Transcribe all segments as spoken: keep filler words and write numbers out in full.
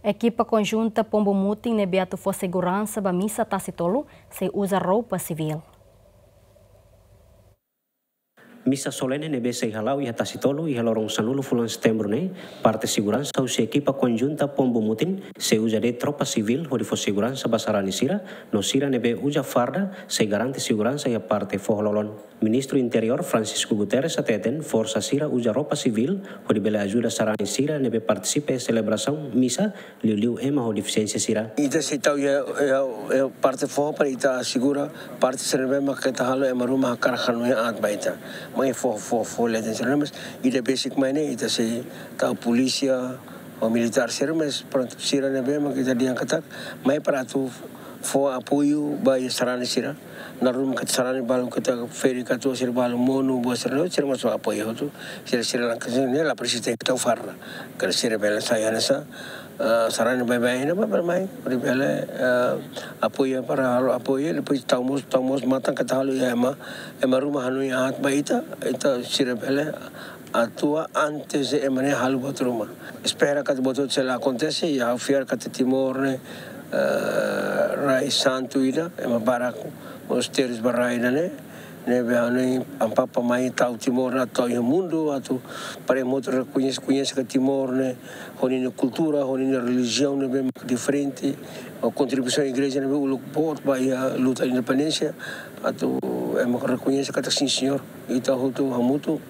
Ekipa konjunta Pombu Mutin ne'ebé atu fó seguransa ba misa Tasi Tolu sei uza roupa sivíl. Misa solene ne'ebé sei hala'o iha Tasi Tolu iha loron sanulu fulan Setembru ne'e, parte seguransa husi ekipa konjunta Pombu Mutin sei uza de'it roupa sivíl hodi fó seguransa ba sarani sira, no sira ne'ebé uza farda sei garante seguransa iha parte foho-lolon. Ministru Interiór Francisco Guterres hateten forsa sira uza roupa sivíl hodi bele ajuda sarani sira ne'ebé partisipa iha selebrasaun misa, liuliu ema ho defisiénsia sira. Ita sei tau iha, iha, iha parte foho para ita asegura parte sira ne'ebé mak ita halo ema ruma hakarak hanoin aat ba ita. Mai foho, foho, foho leten sira, mas ida besik mai ne'e ita sei tau polísia ou militár sira, mas prontu, sira ne'ebé mak ita dehan katak mai para atu fó apoiu ba iha sarani sira. Naran ruma katak sarani balu katak ferik atu sira balu monu, buat sira ne'e, sira mós apoiu hotu. Sira, sira lakohi ne'e la presiza tau farda. Karik sira bele sai hanesan, ah, sarani baibain ne'e, baibain mai. Hodi bele, ah, apoiu para halo apoiu, depois tau mós, tau mós matan katak halo iha ema, ema ruma hanoin aat ba ita, ita sira bele atua antes de ema ne'e halo buat ruma. Espera katak buat hotu sei la akontese, i ha'u fiar katak Timor ne'e, eh, rai santu ida, ema barak mós teris ba rai ida-ne'e, ne'ebé hanoin Amu Papa mai tau Timor ne'e atu iha mundu, atu para ema hotu rekoñese, koñese katak Timor ne'e, ho ninia kultura, ho ninia relijiaun ne'ebé diferente, ho kontribuisaun igreja ne'ebé uluk boot ba iha luta independénsia, atu ema rekoñese katak sin señór, ita hotu hamutuk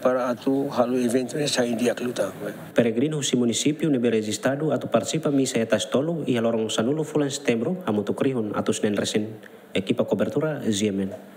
para atu halo eventu ne'e sai di'ak liután. Peregrinu husi munisípiu ne'ebé rejistadu atu partisipa misa iha Tasi Tolu iha loron sanulu fulan Setembru hamutuk rihun atus neen resin. Ekipa kobertura, G M N.